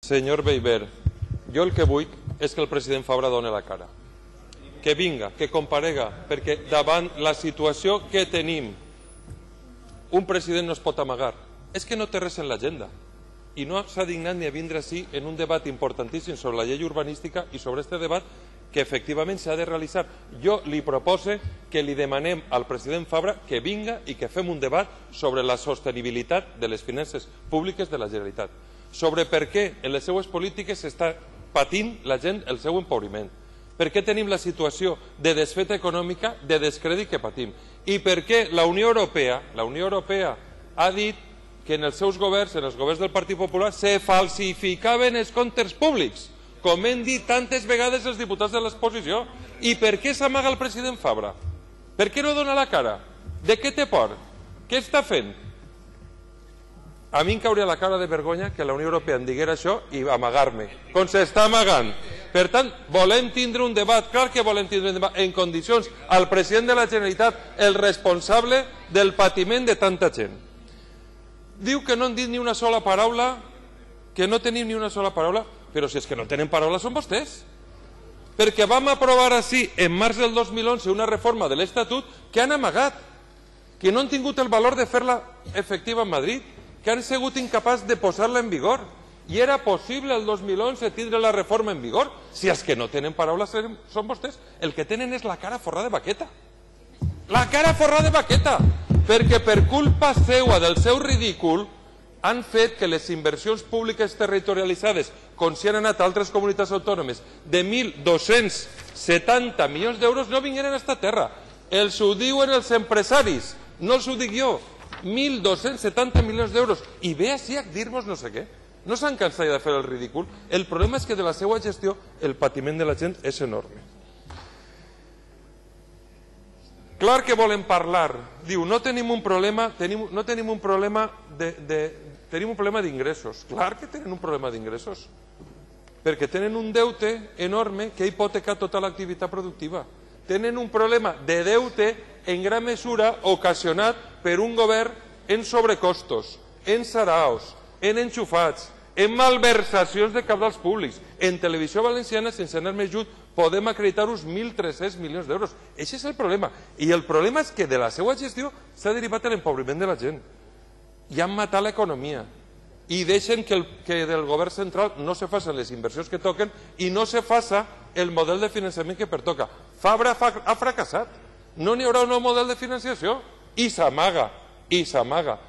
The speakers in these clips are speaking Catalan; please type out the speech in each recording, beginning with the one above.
Senyor Beiber, jo el que vull és que el president Fabra doni la cara. Que vinga, que comparega, perquè davant la situació que tenim, un president no es pot amagar. És que no té res en l'agenda. I no s'ha dignat ni a vindre així en un debat importantíssim sobre la llei urbanística i sobre aquest debat que efectivament s'ha de realitzar. Jo li propose que li demanem al president Fabra que vinga i que fem un debat sobre la sostenibilitat de les finances públiques de la Generalitat, sobre per què en les seues polítiques s'està patint la gent el seu empobriment, per què tenim la situació de desfeta econòmica, de descrèdit que patim, i per què la Unió Europea ha dit que en els seus governs, en els governs del Partit Popular, se falsificaven els comptes públics, com hem dit tantes vegades els diputats de l'exposició. I per què s'amaga el president Fabra? Per què no dona la cara? De què té por? Què està fent? A mi em cauria la cara de vergonya que la Unió Europea em diguera això i amagar-me, com s'està amagant. Per tant, volem tindre un debat, clar que volem tindre un debat en condicions al president de la Generalitat, el responsable del patiment de tanta gent. Diu que no han dit ni una sola paraula, que no tenim ni una sola paraula, però si és que no tenen paraula són vostès. Perquè vam aprovar així en març del 2011 una reforma de l'Estatut que han amagat, que no han tingut el valor de fer-la efectiva en Madrid, que han sigut incapaços de posar-la en vigor. I era possible el 2011 tindre la reforma en vigor. Si és que no tenen paraules són vostès. El que tenen és la cara forrada de baqueta. La cara forrada de baqueta. Perquè per culpa seua del seu ridícul han fet que les inversions públiques territorialitzades, com si han anat a altres comunitats autònomes, de 1.270 milions d'euros no vingueren a esta terra. Els ho diuen els empresaris, no els ho dic jo. 1.270 milions d'euros. I ve així a dir-nos no sé què. No s'han cansat de fer el ridícul. El problema és que de la seva gestió el patiment de la gent és enorme. Clar que volen parlar. Diu, no tenim un problema, tenim un problema d'ingressos. Clar que tenen un problema d'ingressos. Perquè tenen un deute enorme que ha hipotecat tota l'activitat productiva. Tenen un problema de deute en gran mesura ocasionat per un govern en sobrecostos, en saraos, en enxufats, en malversacions de cabals públics. En Televisió Valenciana, sense anar més lluny, podem acreditar-vos 1.300 milions d'euros. Aquest és el problema. I el problema és que de la seva gestió s'ha derivat l'empobriment de la gent. I han matat l'economia. I deixen que del govern central no se facin les inversions que toquen i no se faci el model de finançament que pertoca. Fabra ha fracassat. No n'hi haurà un nou model de financiació. I s'amaga, i s'amaga.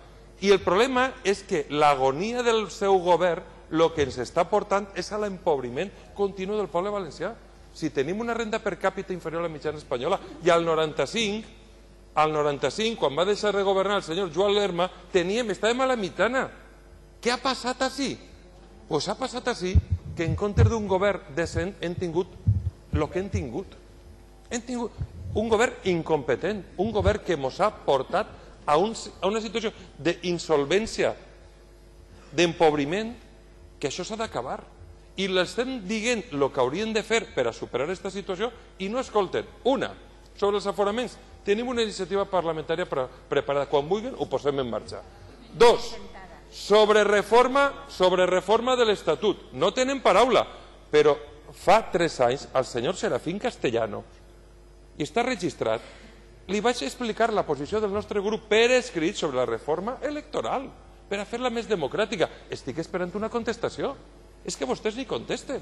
I el problema és que l'agonia del seu govern el que ens està portant és a l'empobriment continu del poble valencià. Si tenim una renda per càpita inferior a la mitjana espanyola i al 95, quan va deixar de governar el senyor Joan Lerma, estàvem a la mitjana. Què ha passat així? Doncs ha passat així que en comptes d'un govern decent hem tingut el que hem tingut. Hem tingut un govern incompetent, un govern que ens ha portat a una situació d'insolvència, d'empobriment, que això s'ha d'acabar. I l'estem dient el que haurien de fer per a superar aquesta situació i no escolten. Una, sobre els aforaments, tenim una iniciativa parlamentària preparada. Quan vulguin ho posem en marxa. Dos, sobre reforma de l'Estatut. No tenen paraula, però fa 3 anys al senyor Serafín Castellano, i està registrat, li vaig explicar la posició del nostre grup per escrit sobre la reforma electoral, per a fer-la més democràtica. Estic esperant una contestació. És que vostès ni contesten.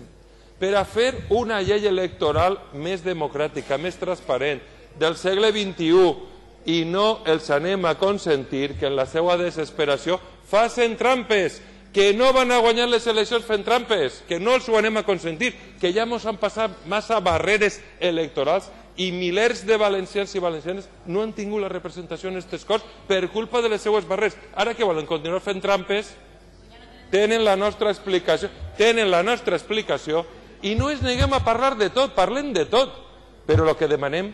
Per a fer una llei electoral més democràtica, més transparent, del segle XXI, i no els anem a consentir que en la seva desesperació facin trampes, que no van a guanyar les eleccions fent trampes, que no els ho anem a consentir, que ja ens han passat massa barreres electorals i milers de valencians i valencianes no han tingut la representació en aquestes Corts per culpa de les seues barreres. Ara que volen continuar fent trampes, tenen la nostra explicació i no ens neguem a parlar de tot, parlem de tot, però el que demanem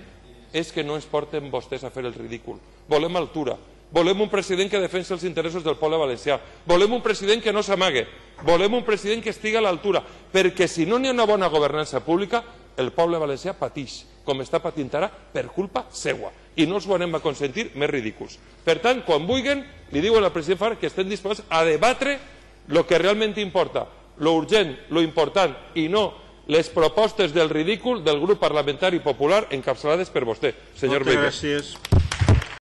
és que no ens porten vostès a fer el ridícul. Volem altura, volem un president que defensi els interessos del poble valencià, volem un president que no s'amague, volem un president que estigui a l'altura, perquè si no n'hi ha una bona governança pública, el poble valencià pateix, com està patint ara, per culpa seua. I no els ho anem a consentir més ridículs. Per tant, quan vulguin, li diuen al president Fabra que estem disposats a debatre el que realment importa, lo urgent, lo important, i no les propostes del ridícul del grup parlamentari popular encapçalades per vostè, senyor Beiber. Moltes gràcies.